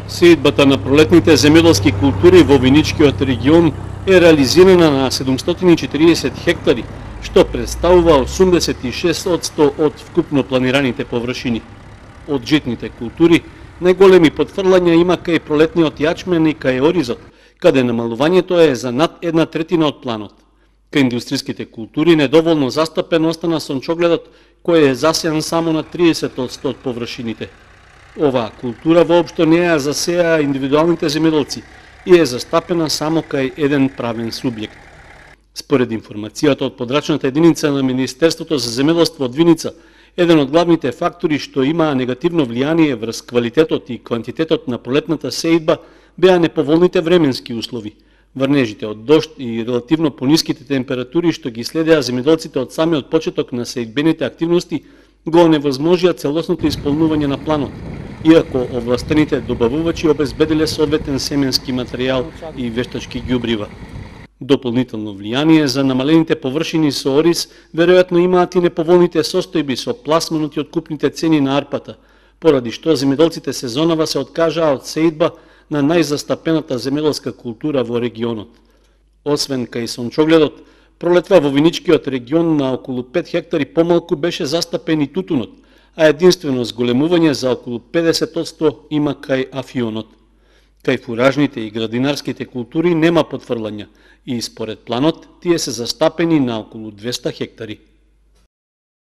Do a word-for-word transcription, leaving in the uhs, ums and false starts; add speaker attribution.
Speaker 1: Сеидбата на пролетните земјоделски култури во виничкиот регион е реализирана на седумстотини и четиридесет хектари, што представува осумдесет и шест одсто од вкупно планираните површини. Од житните култури, најголеми потфрлања има кај пролетниот јачмен и кај оризот, каде намалувањето е за над една третина од планот. Кај индустријските култури недоволно застапен остана сончогледот, кој е засеан само на триесет одсто од површините. Оваа култура воопшто не ја засеа индивидуалните земјоделци и е застапена само кај еден правен субјект. Според информацијата од подрачната единица на Министерството за земјоделство од Виница, еден од главните фактори што имаа негативно влијание врз квалитетот и квантитетот на пролетната сеидба беа неповолните временски услови, врнежите од дожд и релативно пониските температури што ги следеа земјоделците од самиот почеток на сеидбените активности го невозможија целосното исполнување на планот, иако овластените добавувачи обезбедиле соодветен семенски материјал и вештачки ѓубрива. Дополнително влијание за намалените површини со ориз веројатно имаат и неповолните состојби со пласманот и откупните цени на арпата, поради што земјоделците сезонава се откажаа од сеидба на најзастапената земјоделска култура во регионот. Освен кај сончогледот, пролетва во виничкиот регион на околу пет хектари помалку беше застапен и тутунот, а единствено зголемување за околу педесет одсто има кај афионот. Кај фуражните и градинарските култури нема потфрлања и според планот тие се застапени на околу двесте хектари.